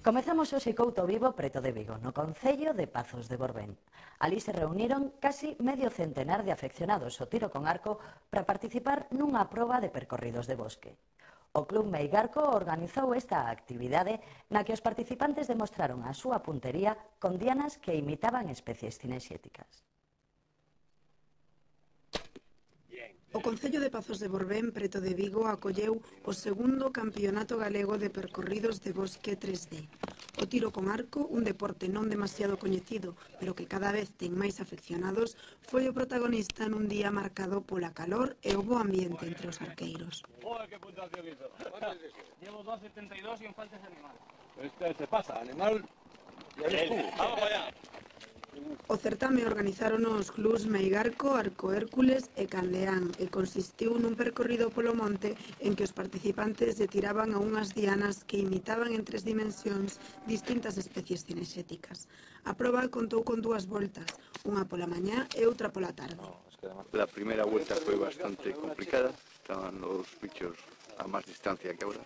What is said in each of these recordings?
Comezamos hoxe Couto Vivo preto de Vigo, no concello de Pazos de Borbén. Alí se reuniron casi medio centenar de afeccionados ao tiro con arco para participar nunha proba de percorridos de bosque. O Club Meigarco organizou esta actividade na que os participantes demostraron a súa puntería con dianas que imitaban especies cinexéticas. O concello de Pazos de Borbén, preto de Vigo, acolleu o segundo campeonato galego de percorridos de bosque 3D. O tiro con arco, un deporte non demasiado coñecido, pero que cada vez ten máis afeccionados, foi o protagonista nun día marcado pola calor e o bo ambiente entre os arqueiros. ¡Joder, qué puntuación hizo! Llevo 2,72 y en falta ese animal. Este se pasa, animal... ¡Vamos allá! O certame organizaron os clubs Meigarco, Arco Hércules e Candeán e consistiu nun percorrido polo monte en que os participantes se tiraban a unhas dianas que imitaban en 3 dimensións distintas especies cinexéticas. A proba contou con 2 voltas, unha pola mañá e outra pola tarde. La primera vuelta fue bastante complicada, estaban los bichos a más distancia que ahora,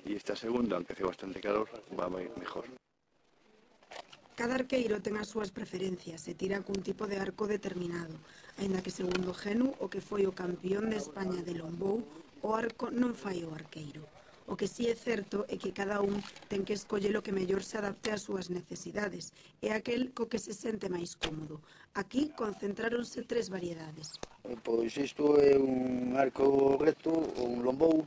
y esta segunda, aunque hace bastante calor, va mejor. Cada arqueiro ten as súas preferencias e tira cun tipo de arco determinado, aínda que segundo Genu, o que foi o campeón de España de longbow, o arco non fai o arqueiro. O que sí é certo é que cada un ten que escoller o que mellor se adapte ás súas necesidades, e aquel co que se sente máis cómodo. Aquí concentráronse 3 variedades. Pois isto é un arco recto, un longbow,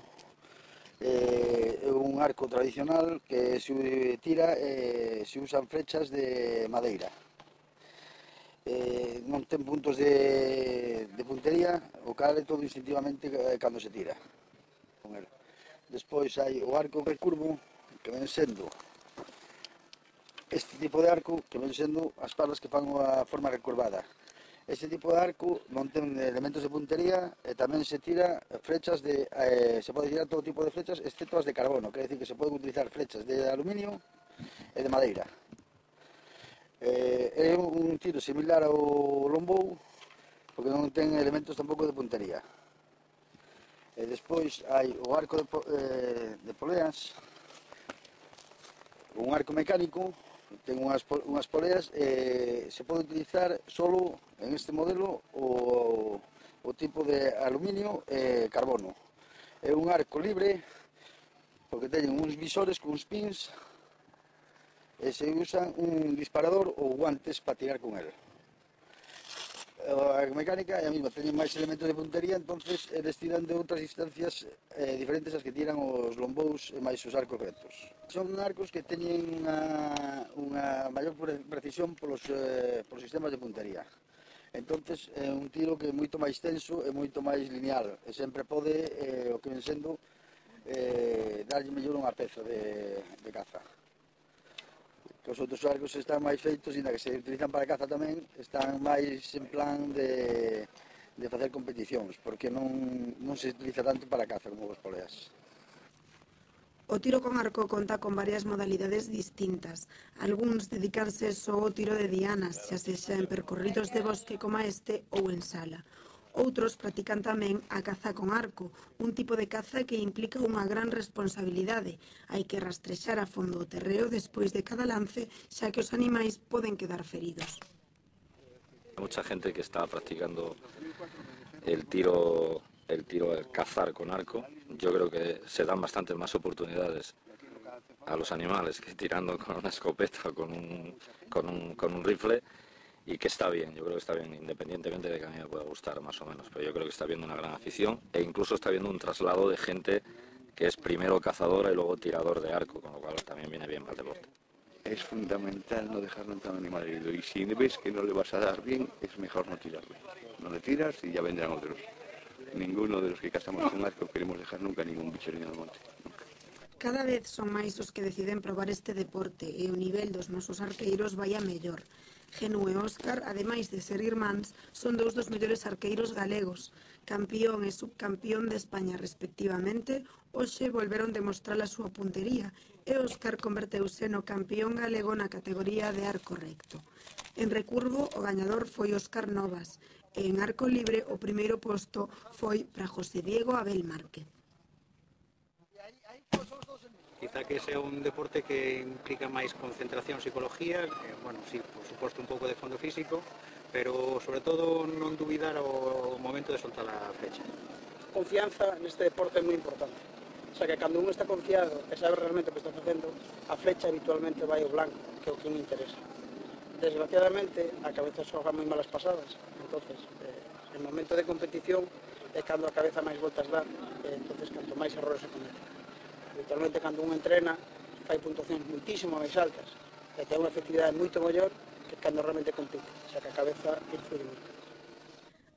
é un arco tradicional que se tira e se usan flechas de madeira. Non ten puntos de puntería, o cal é todo instintivamente cando se tira con el. Despois hai o arco recurvo, que ven sendo este tipo de arco, que ven sendo as palas que fan a forma recurvada. Este tipo de arco non ten elementos de puntería e tamén se tira flechas de... se pode tirar todo tipo de flechas, excepto as de carbono, quer decir que se poden utilizar flechas de aluminio e de madeira. É un tiro similar ao longbow, porque non ten elementos tampouco de puntería. E despois hai o arco de poleas, un arco mecánico, ten unhas poleas e se pode utilizar solo en este modelo o tipo de aluminio e carbono. É un arco libre porque teñen uns visores con uns pins e se usan un disparador ou guantes para tirar con el. A mecánica é a mesma, teñen máis elementos de puntería, entonces eles tiran de outras distancias diferentes as que tiran os longbows e máis os arcos rectos. Son arcos que teñen unha maior precisión polos sistemas de puntería. Entonces é un tiro que é moito máis tenso e moito máis lineal e sempre pode, o que ven sendo, darlle mellor unha peza de caza. Os outros arcos están máis feitos, e na que se utilizan para caza tamén, están máis en plan de facer competicións, porque non se utiliza tanto para caza como os poleas. O tiro con arco conta con varias modalidades distintas. Algúns dedicanse só ao tiro de dianas, xa sexa en percorridos de bosque como este ou en sala. Outros practican tamén a caza con arco, un tipo de caza que implica unha gran responsabilidade. Hai que rastrexar a fondo o terreo despois de cada lance, xa que os animais poden quedar feridos. Hay mucha gente que está practicando el tiro al cazar con arco. Yo creo que se dan bastantes más oportunidades a los animales que tirando con una escopeta o con un rifle, y que está bien, yo creo que está bien, independientemente de que a mí me pueda gustar más o menos, pero yo creo que está habiendo una gran afición e incluso está habiendo un traslado de gente que es primero cazadora y luego tirador de arco, con lo cual también viene bien para el deporte. Es fundamental no dejar nunca a un animal herido, y si ves que no le vas a dar bien, es mejor no tirarle. No le tiras y ya vendrán otros. ninguno de los que cazamos con arco queremos dejar nunca ningún bicho no monte. Nunca. Cada vez son máis os que deciden probar este deporte e o nivel dos nosos arqueiros vai a mellor. Genú e Óscar, ademais de ser irmáns, son dous dos mellores arqueiros galegos. Campión e subcampión de España respectivamente, hoxe volveron demostrar a súa puntería e Óscar converteuse no campión galego na categoría de arco recto. En recurvo, o gañador foi Óscar Novas e en arco libre o primeiro posto foi para José Diego Abel Márquez. Quizá que ese é un deporte que implica máis concentración, psicología, bueno, sí, por suposto un pouco de fondo físico, pero sobre todo non dubidar o momento de soltar a flecha. Confianza neste deporte é moi importante. O sea, que cando un está confiado e sabe realmente o que está facendo, a flecha habitualmente vai ao blanco, que é o que me interesa. Desgraciadamente, a cabeza xoga moi malas pasadas, entonces, en momento de competición é cando a cabeza máis voltas dá, entonces canto máis errores se cometen. Habitualmente, cando un entrena, fai puntuacións muitísimo máis altas e ten unha efectividade moito maior que cando realmente compite, xa que a cabeza influye moito.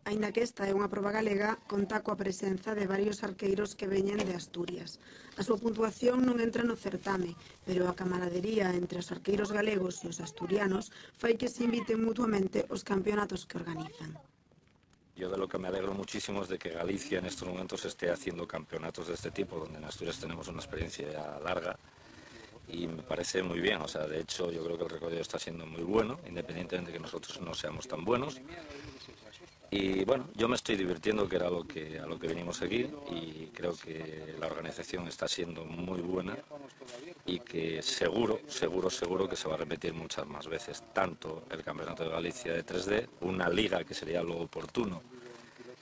Aínda que esta é unha proba galega, conta coa presenza de varios arqueiros que veñen de Asturias. A súa puntuación non entra no certame, pero a camaradería entre os arqueiros galegos e os asturianos fai que se inviten mutuamente os campeonatos que organizan. Yo de lo que me alegro muchísimo es de que Galicia en estos momentos esté haciendo campeonatos de este tipo, donde en Asturias tenemos una experiencia ya larga y me parece muy bien. O sea, de hecho yo creo que el recorrido está siendo muy bueno, independientemente de que nosotros no seamos tan buenos. Y bueno, yo me estoy divirtiendo, que era a lo que venimos aquí, y creo que la organización está siendo muy buena y que seguro que se va a repetir muchas más veces, tanto el Campeonato de Galicia de 3D, una liga que sería lo oportuno,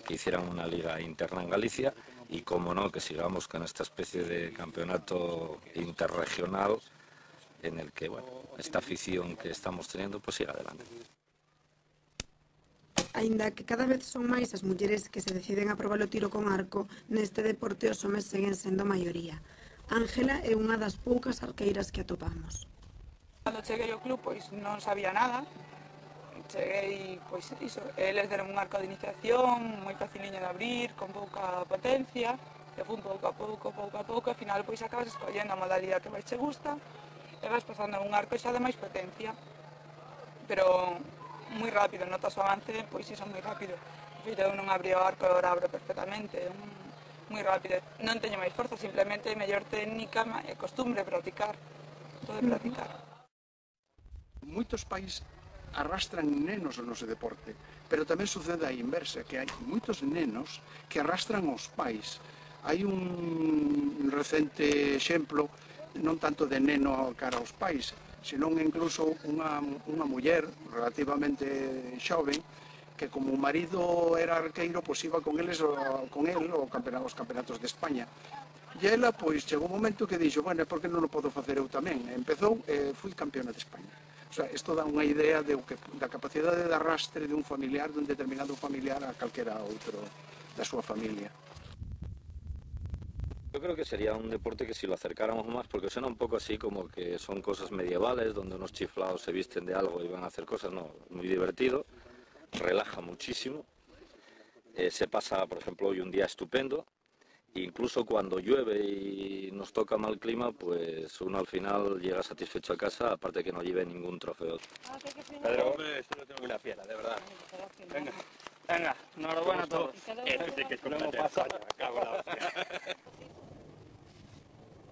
que hicieran una liga interna en Galicia, y como no, que sigamos con esta especie de campeonato interregional en el que, bueno, esta afición que estamos teniendo pues siga adelante. Aínda que cada vez son máis as mulleres que se deciden a probar o tiro con arco, neste deporte os homes seguen sendo maioría. Ángela é unha das poucas arqueiras que atopamos. Cando cheguei ao club, pois non sabía nada. Cheguei, pois iso, eles deron un arco de iniciación, moi faciliño de abrir, con pouca potencia, e fun pouco a pouco, e ao final pois acabas escollendo a modalidade que máis te gusta, e vas pasando a un arco xa de máis potencia. Pero moi rápido, notas o avance, pois iso moi rápido. Eu non abrí o arco e agora abro perfectamente, moi rápido. Non teño máis forza, simplemente mellor técnica e costumbre, practicar, todo de practicar. Moitos pais arrastran nenos no noso deporte, pero tamén sucede a inversa, que hai moitos nenos que arrastran os pais. Hai un recente exemplo, non tanto de neno cara aos pais, senón incluso unha muller relativamente xoven que como o marido era arqueiro, pois iba con el aos campeonatos de España. E ela, pois, chegou un momento que dixo, bueno, por que non o podo facer eu tamén? E empezou e fui campeona de España. O sea, isto dá unha idea da capacidade de arrastre de un familiar, de un determinado familiar a calquera outro da súa familia. Yo creo que sería un deporte que si lo acercáramos más, porque suena un poco así como que son cosas medievales, donde unos chiflados se visten de algo y van a hacer cosas, no, muy divertido, relaja muchísimo, se pasa, por ejemplo, hoy un día estupendo, incluso cuando llueve y nos toca mal clima, pues uno al final llega satisfecho a casa, aparte que no lleve ningún trofeo. Pedro, hombre, esto lo tengo una fiera, de verdad. Venga. Venga, enhorabuena a todos.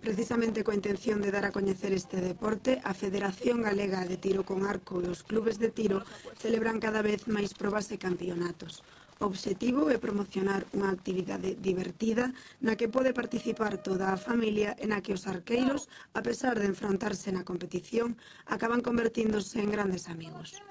Precisamente coa intención de dar a coñecer este deporte, a Federación Galega de Tiro con Arco e os clubes de tiro celebran cada vez máis probas e campeonatos. O obxectivo é promocionar unha actividade divertida na que pode participar toda a familia e na que os arqueiros, a pesar de enfrontarse na competición, acaban convertíndose en grandes amigos.